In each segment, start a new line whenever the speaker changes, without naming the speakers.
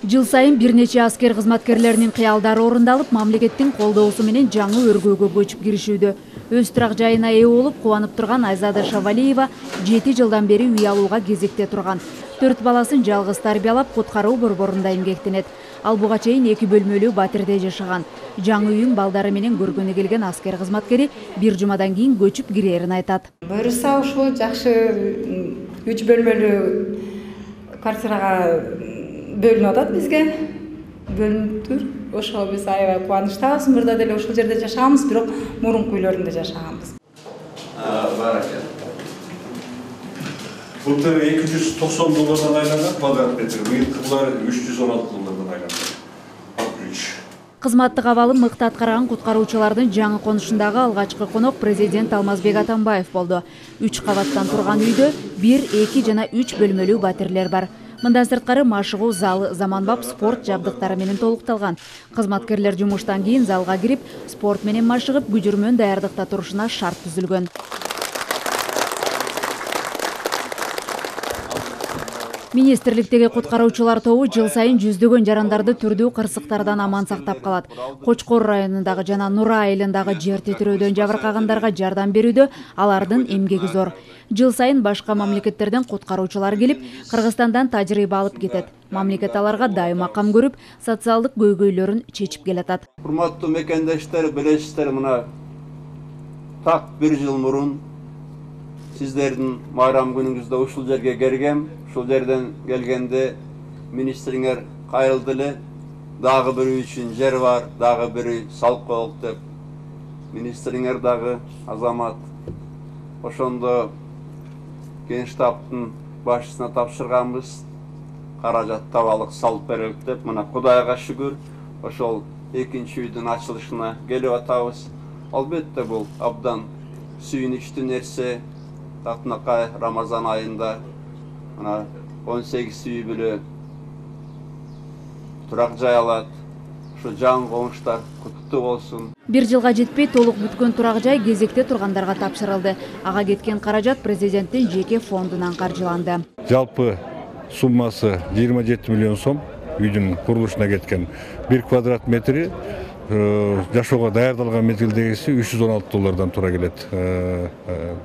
Жыл сайын бир нече аскер кызматкерлеринин кыялдары орундалып, мамлекеттин колдоосу менен жаңы өргөөгө көчүп киришүүдө. Өз турак жайына ээ болуп, кубанып турган Айзада Шавалиева 7 жылдан бери үй алууга кезекте турган. 4 баласын жалгыз тарбиялап, куткаруу борборунда эмгектенет. Ал буга чейин 2 бөлмөлүү батирде жашаган. Жаңы үйүн балдары менен көргөнү келген аскер кызматкери бир жумадан кийин көчүп кирерин айтат.
Буюрса ушул жакшы 3 бөлмөлүү квартирага бөлүнүп атат бизге. Бөлүнүптүр. Ошо биз аябай кубанычтабыз. Мурда деле ушул жерде жашаганбыз, бирок мурунку үйлөрүндө жашаганбыз.
Баракет. Былтыр $290 айланган квадрат метр, быйылкылар $316 айланган.
Кызматтык абалы мыкты аткарган куткаруучулардын жаңы конушундагы алгачкы конок президент Алмазбек Атамбаев болду. 3 кабаттан турган үйдө 1, 2 жана 3 бөлмөлүү батирлер бар. Мындан сырткары машыгуу залы, заманбап спорт жабдыктары менен толукталган. Кызматкерлер жумуштан кийин залга кирип, спорт менен машыгып, күжүрмөн даярдыкта турушуна шарт түзүлгөн. Министрликтеги куткаруучулар тобу жыл сайын жүздөгөн жарандарды түрдүү кырсыктардан аман сактап калат. Кочкор районундагы жана Нура айылындагы жер титирөөдөн жабыркагандарга жардам берүүдө алардын эмгеги зор. Жыл сайын башка мамлекеттерден куткаруучулар келип, Кыргызстандан тажрыйба алып кетет. Мамлекет аларга дайыма кам көрүп, социалдык көйгөйлөрүн чечип келатат.
Урматтуу мекендештер, билесиздер, мына так 1 жыл мурун сиздердин майрам күнүңүздө ушул жерге келгем. Ушул жерден келгенде министриңер кайрылды эле. Дагы бири үчүн жер бар, дагы бири салып коелук деп. Министриңер дагы азамат. Ошондо Генштабтын башчысына тапшырганбыз. Каражат табалык салып берелик деп. Мына Кудайга шүгүр, ошол экинчи үйдүн ачылышына келип атабыз. Албетте бул абдан сүйүнүчтүү нерсе. Татынакай Рамазан айында 18 үй бүлө турак жай алат. Ушу жаңы комуштар куттуктуу болсун.
1 жылга жетпей толук бүткөн турак жай кезекте тургандарга тапшырылды. Ага кеткен каражат президенттин жеке фондунан каржыланды.
Жалпы суммасы 27 миллион сом үйдүн курулушуна кеткен. 1 квадрат метри жашоого даярдалган мезгилдегиси $316 тура келет.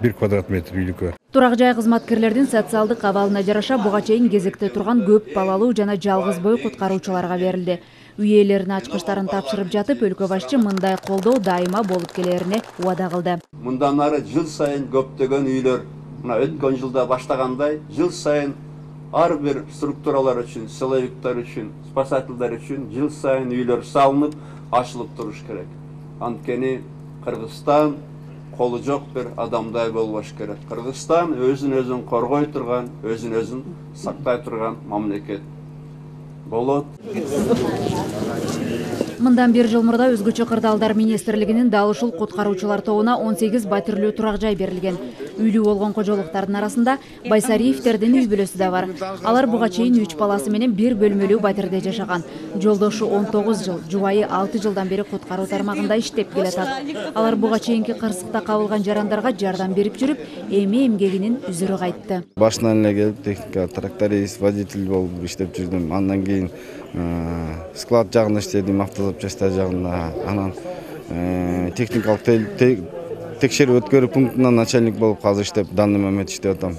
1 квадрат метр үйлүккө.
Турак жай кызматкерлердин социалдык абалына жараша буга чейин кезекте турган көп балалуу жана жалгыз бой куткаруучуларга берилди. Үй ээлеринин ачкычтарын тапшырып жатып, өлкө башчы мындай колдоо дайыма болуп келерине убада кылды.
Мындан ары жыл сайын көптөгөн үйлөр, мына өткөн жылда баштагандай, жыл сайын ар бир структуралар үчүн, силовиктер үчүн, спасательдер үчүн жыл сайын үйлөр салынып, ачылып туруш керек. Анткени Кыргызстан колу жок бир адамдай болбош керек. Кыргызстан өзүн коргой турган, өзүн сактай турган мамлекет болот.
Мындан 1 жыл мурда өзгөчө кырдаалдар министрлигинин дал ушул куткаруучулар тобуна 18 батирлүү турак жай берилген. Үйлүү болгон кожолуктардын арасында Байсариевтердин үй бүлөсү да бар. Алар буга чейин 3 баласы менен 1 бөлмөлүү батирде жашаган. Жолдошу 19 жыл, жубайы 6 жылдан бери куткаруу тармагында иштеп келатат. Алар буга чейинки кырсыкта кабылган жарандарга жардам берип жүрүп, эми эмгегинин үзүрү кайтты.
Башынан эле келип техника тракторист, водитель болуп иштеп жүрдүм. Андан кийин склад жагында иштедим, автозапчастар жагында. Анан техникалык текшерүү өткөрүү пунктунан начальник болуп азыр иштеп, данный момент иштеп атам.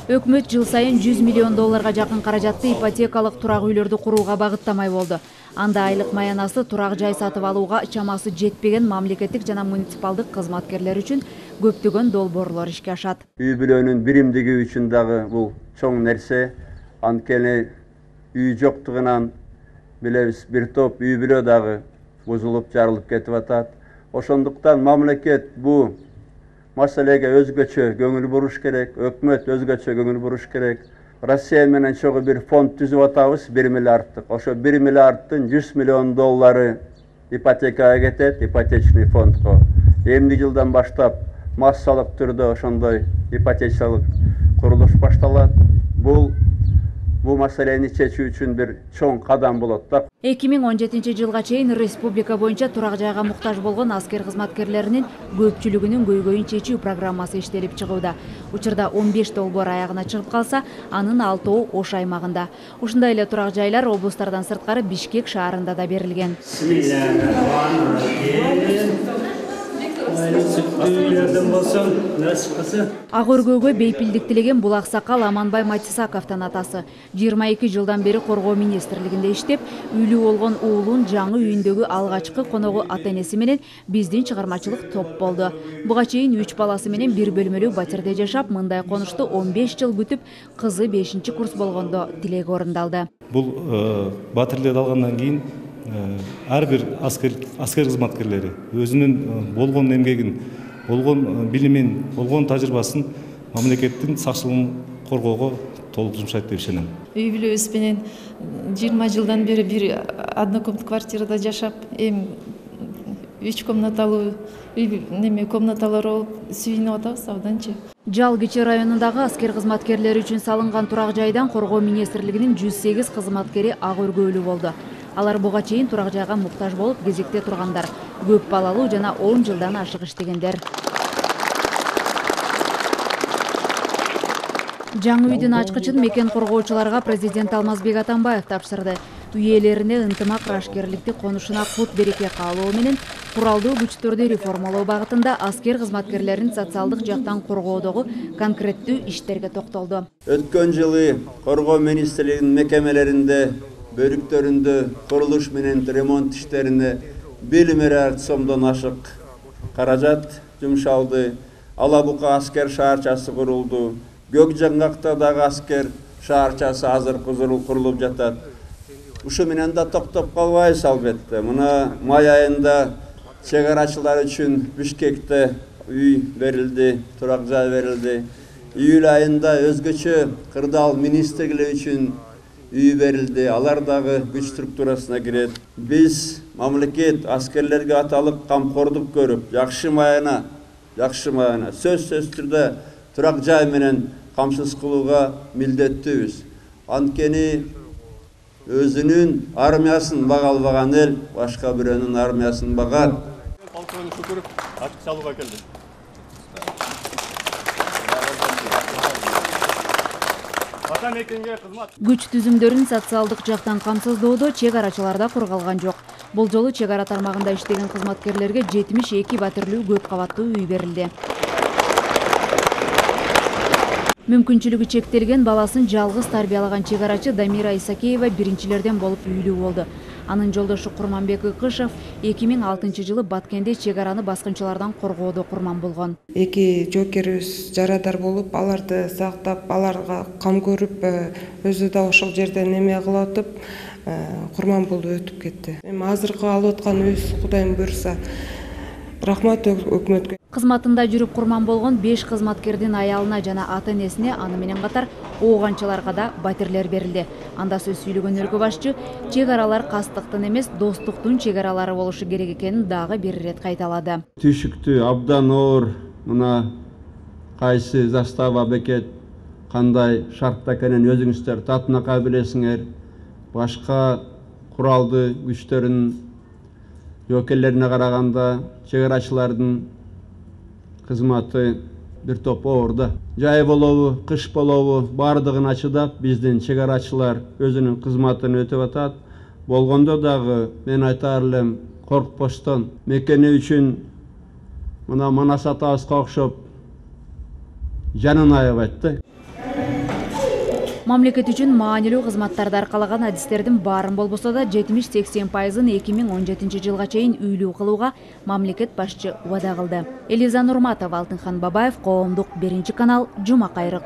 Өкмөт жыл сайын $100 миллион жакын каражатты ипотекалык турак үйлөрдү курууга багыттамай болду. Анда айлык маянасы турак жай сатып алууга чамасы жетпеген мамлекеттик жана муниципалдык кызматкерлер үчүн көптөгөн долбоорлор ишке ашат.
Үй бүлөнүн биримдиги үчүн дагы бул чоң нерсе. Анткени үй жоктугунан билебиз, бир топ үй бүлө дагы бузулуп, жарылып кетип атат. Ошондуктан мамлекет бу маселеге өзгөчө көңүл буруш керек, өкмөт өзгөчө көңүл буруш керек. Россия менен чогуу бир фонд түзүп атабыз, 1 миллиардтык. Ошо 1 миллиардтын $100 миллион ипотекага кетет, ипотечный фондко. Эмди жылдан баштап массалык түрдө ошондой ипотечалык курулуш башталат. Бул бул маселени чечүү үчүн бир чоң кадам болот да.
2017 жылга чейин республика боюнча турак жайга муктаж болгон аскер кызматкерлеринин көпчүлүгүнүн көйгөйүн чечүү программасы иштелип чыгууда. Учурда 15 долбоор аягына чыгып калса, анын 6 Ош аймагында. Ушундай эле турак жайлар облустардан сырткары Бишкек шаарында да берилген. Ак өргөөгө бейпилдик тилеген бул аксакал Аманбай Матисаковдун атасы. 22 жылдан бери коргоо министрлигинде иштеп, үйлүү болгон уулун жаңы үйүндөгү алгачкы коногу ата-энеси менен биздин чыгармачылык топ болду. Буга чейин 3 баласы менен бир бөлмөлүү батирде жашап, мындай конушту 15 жыл күтүп, кызы 5-курс болгондо тилеги орундалды.
Бул батирлерди алгандан кийин ар бир аскер кызматкерлери өзүнүн болгон эмгегин, болгон билимин, болгон тажрыйбасын мамлекеттин сакчылыгын коргоого толук жумшайт деп ишенем.
Үй бүлөбүз менен 20 жылдан бери бир однокомнатный квартирада жашап, эми 3 комнаталуу комнаталар болуп сүйүнүп атабыз абданчы.
Жалгичи районундагы аскер кызматкерлери үчүн салынган турак жайдан коргоо министрлигинин 108 кызматкери ак өргөөлүү болду. Алар буга чейин турак жайга муктаж болуп кезекте тургандар, көп балалуу жана 10 жылдан ашык иштегендер. Жаңы үйдүн ачкычын мекен коргоочуларга президент Алмазбек Атамбаев тапшырды. Үй ээлерине ынтымак рашкерликти конушуна кут береке каалоо менен куралдуу күчтөрдү реформалоо багытында аскер кызматкерлерин социалдык жактан коргоодогу конкреттүү иштерге токтолду.
Өткөн жылы коргоо министрлигинин мекемелеринде бөлүктөрүндө курулуш менен ремонт иштерине 1 миллиард сомдон ашык каражат жумшалды. Алабука аскер шаарчасы курулду. Көк жаңгакта дагы аскер шаарчасы азыр курулуп жатат. Ушу менен да токтоп калбайбыз албетте. Мына май айында чек арачылар үчүн Бишкекте үй берилди, турак жай берилди. Июль айында өзгөчө кырдаал министрлиги үчүн үй берилди. Алар дагы күч структурасына кирет. Биз мамлекет аскерлерге аталык камкордук көрүп, жакшы маана сөзсүз түрдө турак жай менен камсыз кылууга милдеттүүбүз. Анткени өзүнүн армиясын бага албаган эл башка бирөөнүн армиясын багат.
Полковник Шукуров ачык салууга келди.
Күч түзүмдөрүн социалдык жактан камсыздоодо чек арачыларда кургалган жок. Бул жолу чек ара тармагында иштеген кызматкерлерге 72 батирлүү көп кабаттуу үй берилди. Мүмкүнчүлүгү чектелген баласын жалгыз тарбиялаган чек арачы Дамира Исакеева биринчилерден болуп үйлүү болду. Анын жолдошу Курманбек Ыкышев 2006 жылы Баткенде чек араны баскынчылардан коргоодо курман болгон.
Эки жоокерибиз жарадар болуп, аларды сактап, аларга кам көрүп, өзү да ошол жерден эме кылып атып, курман болуп өтүп кетти. Эми азыркы алып атканыбыз Кудайым буйруса, рахмат өкмөткө.
Кызматында жүрүп курман болгон 5 кызматкердин аялына жана ата-энесине, аны менен катар ооганчыларга да батирлер берилди. Анда сөз сүйлөгөн өлкө башчы чек аралар кастыктын эмес, достуктун чек аралары болушу керек экенин дагы бир ирет кайталады.
Түшүктүү абдан оор мына кайсы застава бекет кандай шартта экенин өзүңүздөр татынакай билесиңер. Башка куралдуу күчтөрдүн жоокерлерине караганда чек арачылардын кызматы бир топ оорда. Жай болобу, кыш болобу, бардыгына чыдап биздин чек арачылар өзүнүн кызматын өтөп атат. Болгондо дагы мен айтаар элем, коркпостон мекени үчүн мына Манас атабызга окшоп жанын аябайт да.
Мамлекет үчүн маанилүү кызматтарды аркалаган адистердин баарын болбосо да 70-80% 2017 жылга чейин үйлүү кылууга мамлекет башчы убада кылды. Элиза Нурматова, Алтынхан Бабаев, Коомдук 1 канал, Жума кайрык.